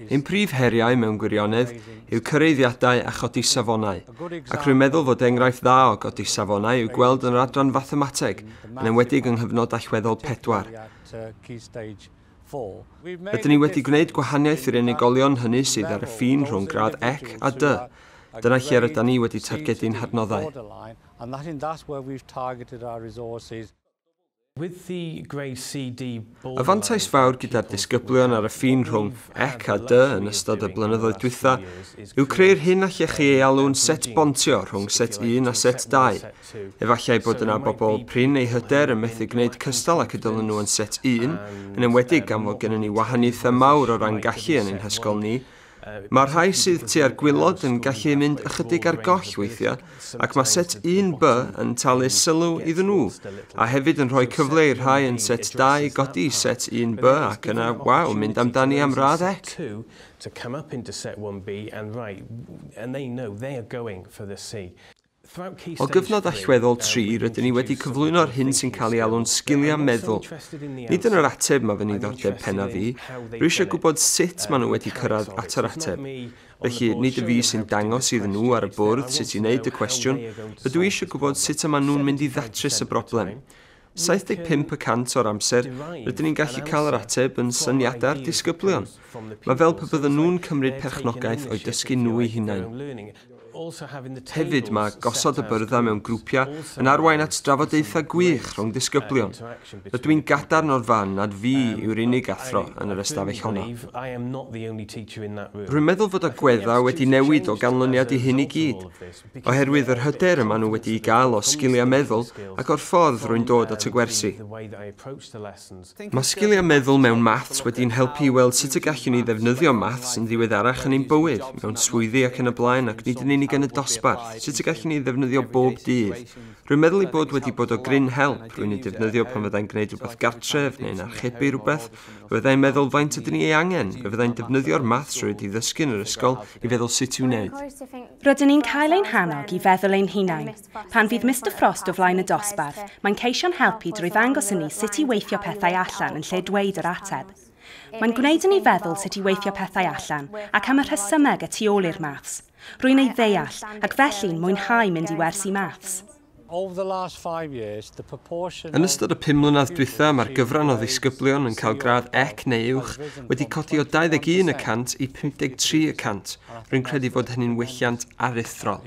Ein prif heriau mewn gwirionedd yw cyraeddiadau a chodi safonau, ac rwy'n meddwl fod enghraifft dda o godi safonau i'w gweld yn yr adran fathemateg, yn enwedig yng nghyfnod allweddol 4. Rydyn ni wedi gwneud gwahaniaeth i'r unigolion hynny sydd ar y ffin rhwng gradd C a D. Dyna lle rydyn ni wedi targedu'n hadnoddau. Y fantais fawr gyda'r disgyblion ar y ffin rhwng C a D yn ystod y blynyddoedd dwytha yw creu'r hyn allech chi ei alw'n set bontio rhwng set 1 a set 2. Efallai bod yna bobl prin eu hyder yn methu gwneud cystal ac y dylen nhw yn set 1, yn enwedig gan fod gennym ni wahaniaethau mawr o ran gallu yn ein hysgol ni. Mae'r rhai sydd tua'r gwaelod yn gallu mynd ychydig ar goll weithiau, ac mae set 1B yn talu sylw iddyn nhw, a hefyd yn rhoi cyfle i'r rhai yn set 2 godi set 1B ac yna, waw, mynd amdani am radd C. O gyfnod allweddol 3, rydyn ni wedi cyflwyno'r hyn sy'n cael ei alw'n sgiliau meddwl. Nid yn yr ateb mae fy niddordeb pennaf i, rwy eisiau gwybod sut maen nhw wedi cyrraedd at yr ateb. Felly, nid y fi sy'n dangos iddyn nhw ar y bwrdd sut i wneud y cwestiwn, rydw i eisiau gwybod sut y maen nhw'n mynd i ddatrys y broblem. 75% o'r amser, rydyn ni'n gallu cael yr ateb yn syniadau'r disgyblion. Mae fel pe bydden nhw'n cymryd perchnogaeth o'u dysgu nhw eu hunain. Hefyd, mae gosod y byrddau mewn grwpiau yn arwain at drafodaethau gwych rhwng disgyblion. Rydw i'n gadarn o'r fan nad fi yw'r unig athro yn yr ystafell honno. Rwy'n meddwl fod agweddau wedi newid o ganlyniad i hyn i gyd, oherwydd yr hyder y maen nhw wedi'i gael o sgiliau meddwl ac o'r ffordd rwy'n dod at y gwersi. Mae sgiliau meddwl mewn maths wedi'n helpu i weld sut y gallwn ni ddefnyddio maths yn ddiweddarach yn ein bywyd, mewn swyddi ac yn y blaen, ac nid yn unig yn y dosbarth, sut y gallwn ni ddefnyddio bob dydd. Rwy'n meddwl ei bod wedi bod o gryn help, rwy'n ei defnyddio pan fyddai'n gwneud rhywbeth gartref neu'n archebu rhywbeth. Fe fyddai'n meddwl faint ydyn ni ei angen, fe fyddai'n defnyddio'r maths rwy wedi ddysgu yn yr ysgol i feddwl sut i'w wneud. Rydyn ni'n cael ein hannog i feddwl ein hunain. Pan fydd Mr Frost o flaen y dosbarth, mae'n ceisio'n helpu drwy ddangos i ni sut i weithio pethau allan yn lle dweud yr ateb. Mae'n gwneud i ni feddwl sut i weithio pethau allan ac am y rhesymeg y tu ôl i'r maths. Rwy'n ei ddeall ac felly'n mwynhau mynd i wersi maths. Yn ystod y 5 mlynedd dwytha, mae'r gyfran o ddisgyblion yn cael gradd C neu uwch wedi codi o 21% i 53%. Rwy'n credu fod hynny'n welliant aruthrol.